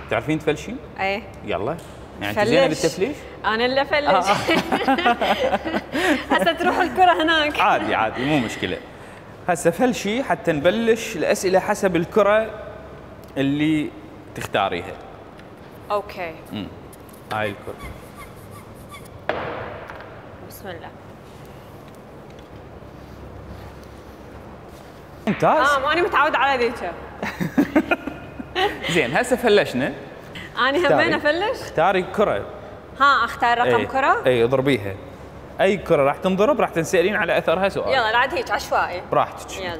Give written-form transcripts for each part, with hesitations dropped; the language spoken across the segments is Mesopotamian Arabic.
تعرفين تفلشين؟ ايه يلا يعني انت زينه بالتفليش؟ انا اللي افلش. هسه تروح الكره هناك. عادي عادي مو مشكله. هسه فلشي حتى نبلش الاسئله حسب الكره اللي تختاريها. اوكي. هاي الكره. بسم الله. ممتاز. ماني متعود على ذيك. زين هسه فلشنا. اني همين افلش؟ اختاري كره. اختار رقم كره؟ اي اضربيها. اي كره راح تنضرب راح تنسالين على اثرها سؤال. يلا العد هيك عشوائي. براحتك. يلا.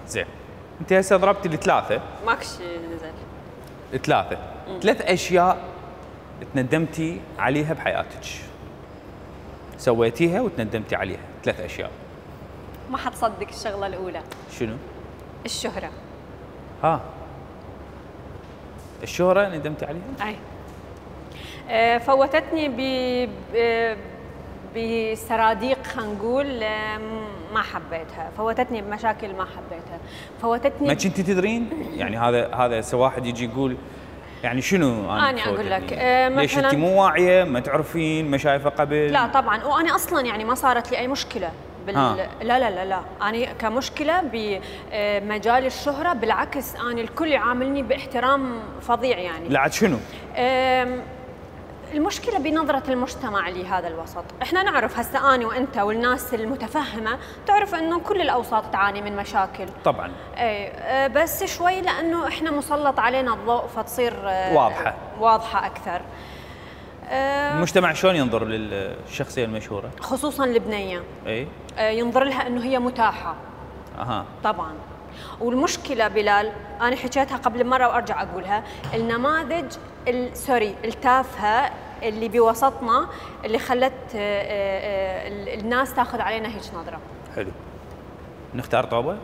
زين انت هسه ضربتي الثلاثه. ماكو شيء نزل. ثلاثه. 3 اشياء تندمتي عليها بحياتك. سويتيها وتندمتي عليها، 3 اشياء. ما حتصدق الشغله الاولى. شنو؟ الشهره. الشهره ندمتي عليها؟ اي. فوتتني بسراديق خلينا نقول ما حبيتها، فوتتني بمشاكل ما حبيتها، فوتتني ما كنتي تدرين؟ يعني هذا واحد يجي يقول يعني شنو أنا أقول لك ليش انت مو واعيه؟ ما تعرفين؟ ما شايفه قبل؟ لا طبعا، وانا اصلا يعني ما صارت لي اي مشكله لا لا لا لا، انا كمشكله بمجال الشهره بالعكس، انا الكل يعاملني باحترام فظيع يعني. لا عاد شنو؟ المشكله بنظره المجتمع لهذا الوسط، احنا نعرف هسه اني وانت والناس المتفهمه تعرف انه كل الاوساط تعاني من مشاكل طبعا. اي بس شوي لانه احنا مسلط علينا الضوء فتصير واضحه اكثر. المجتمع شلون ينظر للشخصيه المشهوره؟ خصوصا البنيه. اي ينظر لها انه هي متاحه. طبعا. والمشكله بلال انا حكيتها قبل مره وارجع اقولها، النماذج التافهه اللي بوسطنا اللي خلت الناس تاخذ علينا هيك نظره. حلو. نختار طوبه؟